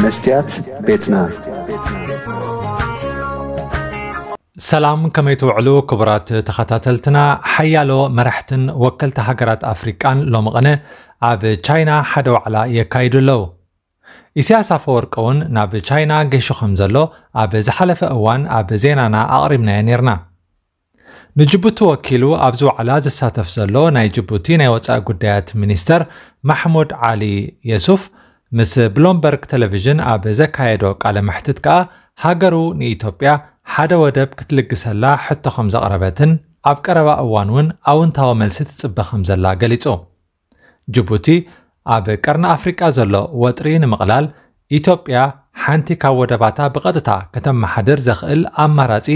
መስትያት ቤትና። ሰላም፣ ከመይ ትውዕሉ ክቡራት ተኸታተልትና? ሓያሎ መራሕትን ወከልቲ ሃገራት ኣፍሪቃን ሎሚ ቅነ ኣብ ቻይና ሓደ ዋዕላ የካይዱ ኣለዉ። ኢሳያስ ኣፈወርቂ እውን ናብ ቻይና ገሹ ከም ዘሎ ኣብ ዝሓለፈ እዋን ኣብ ዜናና ኣቕሪብናዮ ነይርና። ንጅቡቲ ወኪሉ ኣብዚ ዋዕላ ዝሳተፍ ዘሎ ናይ ጅቡቲ ናይ ወጻኢ ጉዳያት ሚኒስተር ማሕሙድ ዓሊ የሱፍ ምስ ብሎምበርግ ቴሌቪዥን ኣብ ዘካየዶ ቃለ መሕትት ከኣ ሃገሩ ንኢትዮጵያ ሓደ ወደብ ክትልግሰላ ሕቶ ከም ዘቕረበትን ኣብ ቀረባ እዋን እውን ኣውንታዊ መልሲ ትጽበ ከም ዘላ ገሊጹ። ጅቡቲ ኣብ ቀርኒ ኣፍሪቃ ዘሎ ወጥሪ ንምቕላል ኢትዮጵያ ሓንቲ ካብ ወደባታ ብቐጥታ ከተመሓድር ዘኽእል ኣማራጺ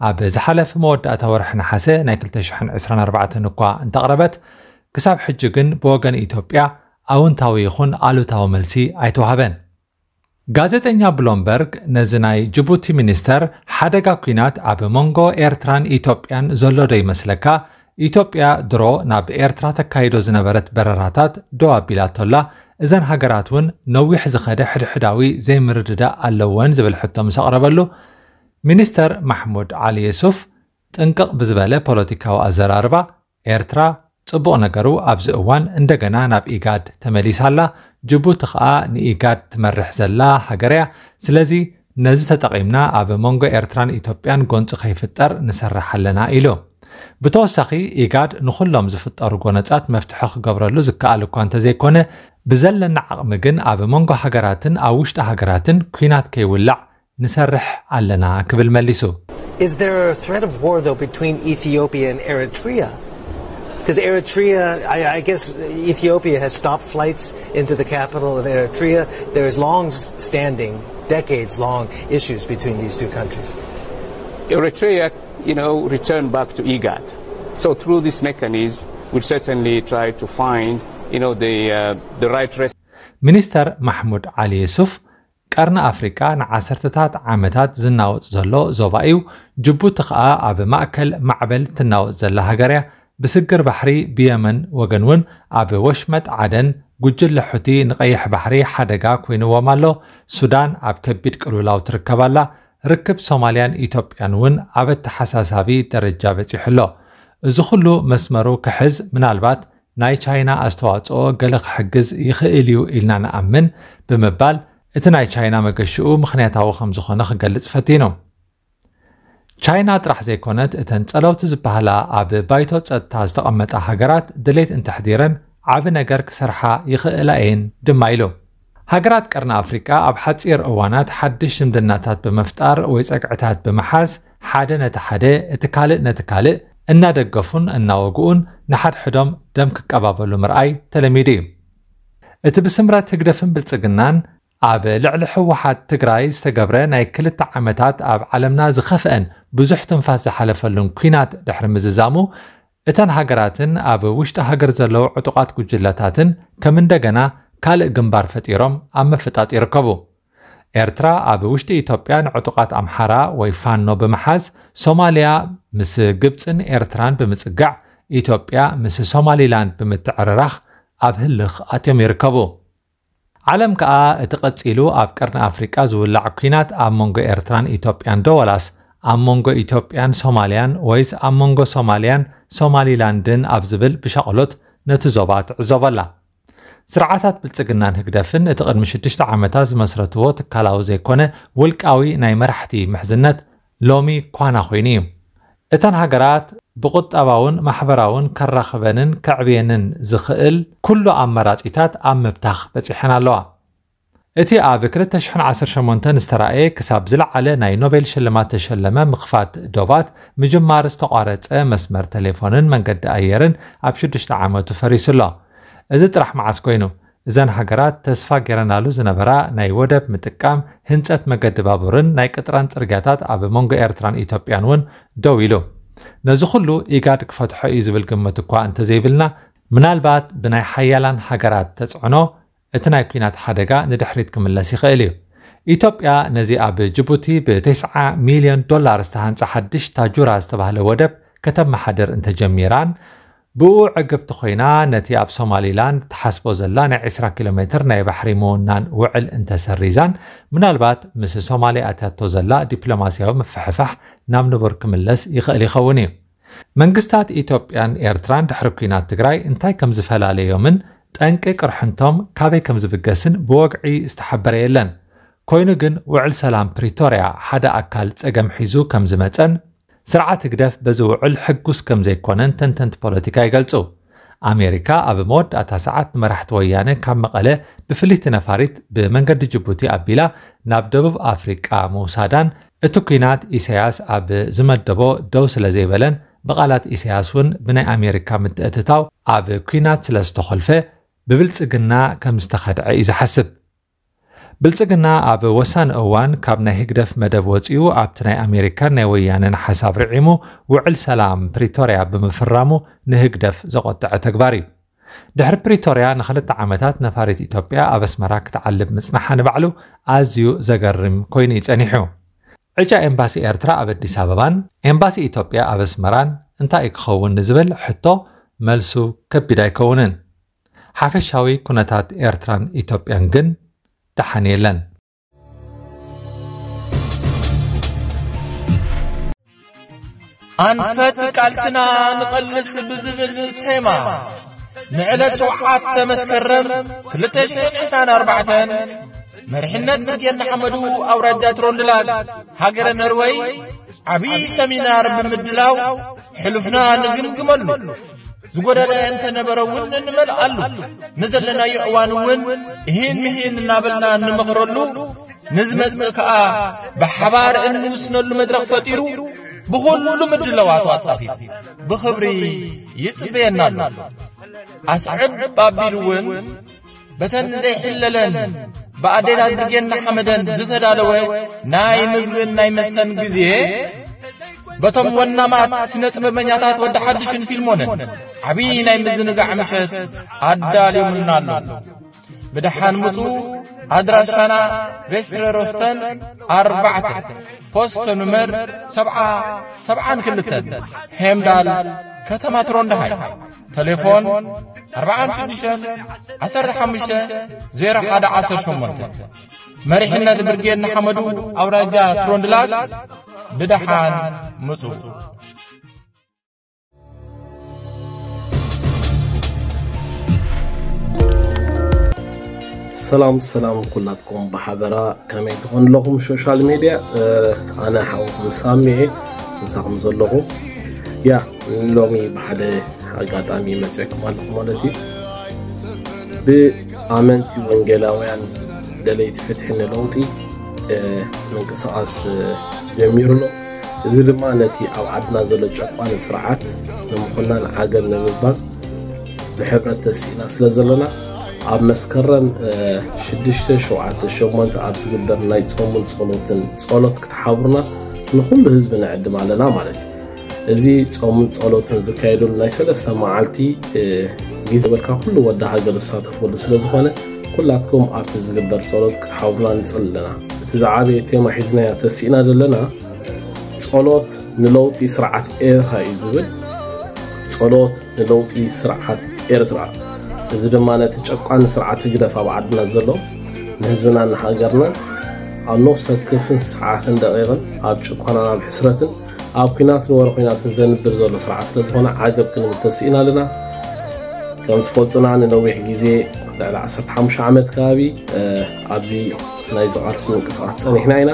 ኣብ ዝሓለፈ መወዳእታ ወርሒ ነሓሰ ናይ ክልተ ሽሕን ዕስራን ኣርባዕተን እኳ እንተቕረበት፣ ክሳብ ሕጂ ግን ብወገን ኢትዮጵያ ኣውንታዊ ይኹን ኣሉታዊ መልሲ ኣይተዋህበን። ጋዜጠኛ ብሎምበርግ ነዚ ናይ ጅቡቲ ሚኒስተር ሓደጋ ኲናት ኣብ መንጎ ኤርትራን ኢትዮጵያን ዘሎ ዶ ይመስለካ? ኢትዮጵያ ድሮ ናብ ኤርትራ ተካይዶ ዝነበረት በረራታት ደው ኣቢላቶላ፣ እዘን ሃገራት እውን ነዊሕ ዝኸደ ሕድሕዳዊ ዘይምርድዳእ ኣለወን ዝብል ሕቶ ምስ ኣቕረበሉ፣ ሚኒስተር ማሕሙድ ዓሊ የሱፍ ጥንቅቕ ብዝበለ ፖለቲካዊ ኣዘራርባ፣ ኤርትራ ጽቡቕ ነገሩ ኣብዚ እዋን እንደገና ናብ ኢጋድ ተመሊሳ ኣላ፣ ጅቡቲ ኸኣ ንኢጋድ ትመርሕ ዘላ ሃገር እያ። ስለዚ ነዚ ተጠቒምና ኣብ መንጎ ኤርትራን ኢትዮጵያን ጎንጺ ከይፍጠር ንሰርሕ ኣለና ኢሉ። ብተወሳኺ ኢጋድ ንኹሎም ዝፍጠሩ ጎነጻት መፍትሒ ክገብረሉ ዝከኣል እኳ እንተዘይኮነ፣ ብዘለና ዓቕሚ ግን ኣብ መንጎ ሃገራትን ኣብ ውሽጢ ሃገራትን ኲናት ከይውላዕ ንሰርሕ ኣለና ክብል መሊሱ። Is there a threat of war, though, between Ethiopia and Eritrea? Because Eritrea, I, I guess Ethiopia has stopped flights into the capital of Eritrea. There is long standing, decades long issues between these two countries. Eritrea, you know, returned back to IGAD. So through this mechanism, we certainly try to find, you know, the, uh, the right rest. ሚኒስተር ማሕሙድ ዓሊ የሱፍ ቀርኒ ኣፍሪቃ ንዓሰርተታት ዓመታት ዝናወጽ ዘሎ ዞባ እዩ። ጅቡቲ ከኣ ኣብ ማእከል ማዕበል ትናወጽ ዘላ ሃገር እያ። ብስግር ባሕሪ ብየመን ወገን እውን ኣብ ወሽመጥ ዓደን ጉጅለ ሑቲ ንቐይሕ ባሕሪ ሓደጋ ኮይንዎም ኣሎ። ሱዳን ኣብ ከቢድ ቅልውላው ትርከብ ኣላ። ርክብ ሶማልያን ኢትዮጵያን እውን ኣብ ኣተሓሳሳቢ ደረጃ በጺሑ ኣሎ። እዚ ኩሉ መስመሩ ክሕዝ ምናልባት ናይ ቻይና ኣስተዋጽኦ ገለ ክሕግዝ ይኽእል እዩ ኢልና ንኣምን ብምባል እቲ ናይ ቻይና መገሽኡ ምኽንያታዊ ከም ዝኾነ ክገልጽ ፈቲኑ። ቻይና ጥራሕ ዘይኮነት እተን ጸለውቲ ዝበሃላ ኣብ ባይቶ ጸጥታ ዝተቐመጣ ሃገራት ድሌት እንተሕዲረን ዓቢ ነገር ክሰርሓ ይኽእላ እየን ድማ ኢሉ። ሃገራት ቀርኒ ኣፍሪቃ ኣብ ሓጺር እዋናት ሓድሽ ዝምድናታት ብምፍጣር ወይ ጸግዕታት ብምሓዝ ሓደ ነቲ ሓደ እቲ ካልእ ነቲ ካልእ እናደገፉን እናወግኡን ንሓድሕዶም ደም ክቀባበሉ ምርኣይ ተለሚዱ እዩ። እቲ ብስምረት ህግደፍን ብልጽግናን ኣብ ልዕሊ ህወሓት ትግራይ ዝተገብረ ናይ ክልተ ዓመታት ኣብ ዓለምና ዝኸፍአን ብዙሕ ትንፋስ ዝሓለፈሉን ኲናት ድሕሪ ምዝዛሙ እተን ሃገራትን ኣብ ውሽጢ ሃገር ዘለዉ ዕጡቓት ጉጅለታትን ከም እንደገና ካልእ ግንባር ፈጢሮም ኣብ ምፍጣጥ ይርከቡ። ኤርትራ ኣብ ውሽጢ ኢትዮጵያ ንዕጡቓት ኣምሓራ ወይ ፋኖ ብምሓዝ፣ ሶማልያ ምስ ግብጽን ኤርትራን ብምጽጋዕ፣ ኢትዮጵያ ምስ ሶማሊላንድ ብምትዕርራኽ ኣብ ህልኽ ኣትዮም ይርከቡ። ዓለም ከኣ እቲ ቀጺሉ ኣብ ቀርኒ ኣፍሪቃ ዝውላዕ ኲናት ኣብ መንጎ ኤርትራን ኢትዮጵያን ዶ ወላስ ኣብ መንጎ ኢትዮጵያን ሶማልያን ወይስ ኣብ መንጎ ሶማልያን ሶማሊላንድን ኣብ ዝብል ብሻቕሎት ነቲ ዞባ ትዕዘቦ ኣላ። ስርዓታት ብልጽግናን ህግደፍን እቲ ቅድሚ ሽዱሽተ ዓመታት ዝመስረትዎ ትካላዊ ዘይኮነ ውልቃዊ ናይ መራሕቲ ምሕዝነት ሎሚ ኳና ኮይኑ እዩ። እተን ሃገራት ብቁጠባውን ማሕበራውን ከራኽበንን ከዕብየንን ዝኽእል ኩሉ ኣመራጺታት ኣብ ምብታኽ በጺሐን ኣለዋ። እቲ ኣብ ክልተ ሽሕን ዓሰርተ ሸሞንተን ዝተራእየ ክሳብ ዝለዓለ ናይ ኖቤል ሽልማት ተሸለመ ምኽፋት ዶባት ምጅማር ዝተቋረጸ መስመር ቴሌፎንን መንገዲ ኣየርን ኣብ ሽዱሽተ ዓመቱ ፈሪሱ ኣሎ። እዚ ጥራሕ መዓስ ኮይኑ? እዘን ሃገራት ተስፋ ገይረናሉ ዝነበራ ናይ ወደብ ምጥቃም፣ ህንጸት መገዲ ባቡርን ናይ ቅጥራን ጽርግያታት ኣብ መንጎ ኤርትራን ኢትዮጵያን እውን ደው ኢሉ። ነዚ ኩሉ ኢጋድ ክፈትሖ እዩ ዝብል ግምት እኳ እንተዘይብልና፣ ምናልባት ብናይ ሓያላን ሃገራት ተጽዕኖ እቲ ናይ ኲናት ሓደጋ ንድሕሪት ክምለስ ይኽእል እዩ። ኢትዮጵያ ነዚ ኣብ ጅቡቲ ብተስዓ ሚልዮን ዶላር ዝተሃንጸ ሓድሽ ታጁራ ዝተባህለ ወደብ ከተመሓድር እንተጀሚራን፣ ብኡ ዕግብቲ ኮይና ነቲ ኣብ ሶማሊላንድ ትሓስቦ ዘላ ናይ ዕስራ ኪሎ ሜትር ናይ ባሕሪ ምውናን ውዕል እንተሰሪዛን፣ ምናልባት ምስ ሶማሊ ኣትያቶ ዘላ ዲፕሎማስያዊ ምፍሕፋሕ ናብ ንቡር ክምለስ ይኽእል ይኸውን እዩ። መንግስታት ኢትዮጵያን ኤርትራን ድሕሪ ኲናት ትግራይ እንታይ ከም ዝፈላለዮምን ጠንቂ ቅርሕንቶም ካበይ ከም ዝብገስን ብወግዒ ዝተሓበረ የለን። ኮይኑ ግን ውዕል ሰላም ፕሪቶርያ ሓደ ኣካል ጸገም ሒዙ ከም ዝመጸን ስርዓት ህግደፍ በዚ ውዕል ሕጉስ ከም ዘይኮነን ተንተንቲ ፖለቲካ ይገልጹ። ኣሜሪካ ኣብ መወዳእታ ሰዓት ንመራሕቲ ወያነ ካብ መቐለ ብፍልይቲ ነፋሪት ብመንገዲ ጅቡቲ ኣቢላ ናብ ደቡብ ኣፍሪቃ ምውሳዳን እቲ ኲናት ኢሳያስ ኣብ ዝመደቦ ደው ስለ ዘይበለን ብቓላት ኢሳያስ እውን ብናይ ኣሜሪካ ምትእትታው ኣብ ኲናት ስለ ዝተኾልፈ ብብልጽግና ከም ዝተኸድዐ እዩ ዝሓስብ። ብልጽግና ኣብ ወሳኒ እዋን ካብ ናይ ህግደፍ መደብ ወጺኡ ኣብቲ ናይ ኣሜሪካን ናይ ወያነን ሓሳብ ርዒሙ ውዕል ሰላም ፕሪቶርያ ብምፍራሙ ንህግደፍ ዘቖጠዐ ተግባር እዩ። ድሕሪ ፕሪቶርያ ንኽልተ ዓመታት ነፋሪት ኢትዮጵያ ኣብ ኣስመራ ክትዓልብ ምጽናሓ ንባዕሉ ኣዝዩ ዘገርም ኮይኑ እዩ ጸኒሑ። ዕጫ ኤምባሲ ኤርትራ ኣብ ኣዲስ ኣበባን ኤምባሲ ኢትዮጵያ ኣብ ኣስመራን እንታይ ክኸውን ንዝብል ሕቶ መልሱ ከቢድ ኣይከውንን። ሓፈሻዊ ኩነታት ኤርትራን ኢትዮጵያን ግን ደሓን የለን። ኣንፈት ቃልስና ንቐልስ ብዝብል ቴማ ንዕለት ሸውዓተ መስከረም ክልተ ሽሕን ዕስራን ኣርባዕተን መሪሕነት ብርጌድ ንሓመዱ ኣውራጃ ትሮንድላግ ሃገረ ነርወይ ዓብዪ ሰሚናር ብምድላው ሕሉፍና ንግምግመሉ፣ ዝጎደለ እንተነበረ እውን እንመልኣሉ፣ ንዘለናዮ እዋን እውን እሂን ምሂን እናበልና እንመኽረሉ፣ ንዝመጽእ ከኣ ብሓባር እንውስነሉ መድረኽ ፈጢሩ ብኹሉ ምድላዋቱ ኣጻፊፉ ብኽብሪ ይጽበየና ኣሎ። ኣስዕብ ኣቢሉ እውን በተን ዘይሕለለን ብኣዴታት ብርጌድ ንሓመደን ዝተዳለወ ናይ ምግብን ናይ መስተን ግዜ በቶም ወናማት ስነ ጥበበኛታት ወዲ ሓድሽን ፊልሞንን ዓብዪ ናይ ምዝንጋዕ ምሸት ኣዳልዮምልና ኣሎ። ብደሓን ምጹ። ኣድራሻና ቬስትረ ሮስተን ኣርባዕተ ፖስተ ኑመር ሰብዓ ሰብዓን ክልተን ሄምዳል ከተማ ትሮንድሃይ። ተሌፎን ኣርባዓን ሽዱሽተን ዓሰርተ ሓሙሽተ ዜሮ ሓደ ዓሰርተ ሸሞንተ። መሪሕነት ብርጌድ ንሓመዱ ኣውራጃ ትሮንድላግ ብደሓን ምጹ። ሰላም ሰላም ኩላትኩም ብሓበራ ከመይ ትኾኑ ኣለኹም ሶሻል ሜድያ? ኣነ ሓውኩም ሳሚ እየ ምሳኹም ዘለኹ። ያ ሎሚ ብሓደ ኣጋጣሚ መፅእኩም ኣለኹ ማለት እዩ። ብኣመንቲ ወንጌላውያን ደለይቲ ፍትሒ ንለውጢ ምንቅስቃስ ጀሚሩ ኣሎ። እዚ ድማ ነቲ ኣብ ዓድና ዘሎ ጨቋኒ ስርዓት ንምኹናን ዓገብ ንምባል ብሕብረት ተሲእና ስለ ዘለና ኣብ መስከረም ሽዱሽተ ሸውዓተ ሸሞንተ ኣብ ዝግበር ናይ ጾምን ጸሎትን ጸሎት ክትሓብሩና ንኹሉ ህዝቢ ንዕድም ኣለና ማለት እዩ። እዚ ጾምን ጸሎትን ዝካየደሉ ናይ ሰለስተ መዓልቲ ግዜ በልካ ኩሉ ወዲ ሃገር ዝሳተፈሉ ስለ ዝኾነ ኩላትኩም ኣብቲ ዝግበር ጸሎት ክትሓብሩና ንጽሊ ኣለና። እቲ ዝዓበየ ቴማ ሒዝናዮ ተሲእና ዘለና ጸሎት ንለውጢ ስርዓት ኤርትራ እዩ ዝብል። ጸሎት ንለውጢ ስርዓት ኤርትራ። እዚ ድማ ነቲ ጨቋኒ ስርዓት ህግደፍ ኣብ ዓድና ዘሎ ንህዝብናን ንሃገርናን ኣብ ነፍሲ ወከፍን ሰዓትን ደቂቕን ኣብ ጭቆናን ኣብ ሕስረትን ኣብ ኲናትን ወረ ኲናትን ዘንብር ዘሎ ስርዓት ስለ ዝኾነ ዓገብ ክንብል ተሲእና ኣለና። ከም ትፈልጡና ንነዊሕ ግዜ ልዕሊ ዓሰርተ ሓሙሽተ ዓመት ከባቢ ኣብዚ ናይዚ ቃልሲ ምንቅስቃስ ጸኒሕና ኢና።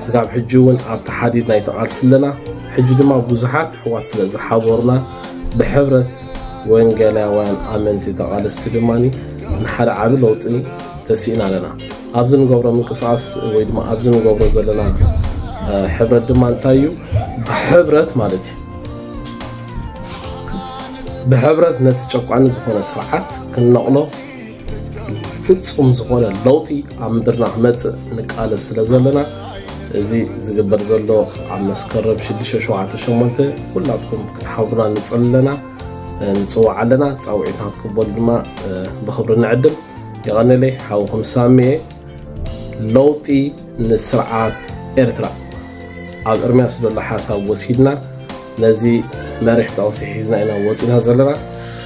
ስጋብ ሕጂ እውን ኣብቲ ሓዲድ ናይቲ ቃልሲ ኣለና። ሕጂ ድማ ብዙሓት ኣሕዋት ስለ ዝሓበሩና ብሕብረት ወንጌላውያን ኣመንቲ ተቓለስቲ ድማ ንሓደ ዓቢ ለውጢ ተሲእና ኣለና። ኣብዚ ንገብሮ ምንቅስቃስ ወይ ድማ ኣብዚ ንገብሮ ዘለና ሕብረት ድማ እንታይ እዩ? ብሕብረት ማለት እዩ። ብሕብረት ነቲ ጨቋኒ ዝኾነ ስርዓት ክንነቕሎ ፍጹም ዝኾነ ለውጢ ኣብ ምድርና ክመጽእ ንቃለስ ስለ ዘለና እዚ ዝግበር ዘሎ ኣብ መስከረም ሽዱሽተ ሸውዓተ ሸሞንተ ኩላትኩም ክትሓብሩና ንጽሊ ኣለና፣ ንጽውዕ ኣለና። ጻውዒትና ክትቅበሉ ድማ ብኽብሪ ንዕድም። የቐንለይ ሓውኹም ሳሚ እየ። ለውጢ ንስርዓት ኤርትራ ኣብ እርምያስ ዘሎ ሓሳብ ወሲድና ነዚ መሪሕ ጠቕሲ ሒዝና ኢና ወፂና ዘለና።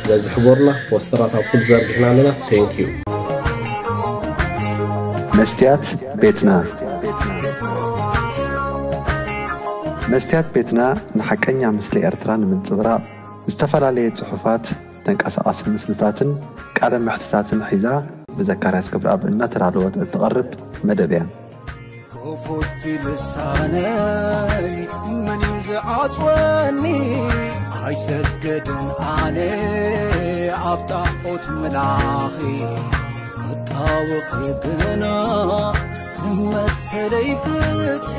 ስለዚ ሕቦርና ፖስተራት ኣብ ኩሉ ዘርጊሕና ኣለና። Thank you። መስትያት ቤትና። መስትያት ቤትና ንሓቀኛ ምስሊ ኤርትራ ንምንጽብራቕ ዝተፈላለየ ጽሑፋት፣ ተንቀሳቓሲ ምስልታትን ቃለ መሕትታትን ሒዛ ብዘካርያስ ክብረኣብ እናተዳለወት እትቐርብ መደብ እያ። ክፉት ልሳነይ መን እዩ ዝዓጽወኒ? ኣይሰግድን ኣነ ኣብ ጣዖት ምላኺ ክጣወኺ ግና ንመሰለይ ፍትሒ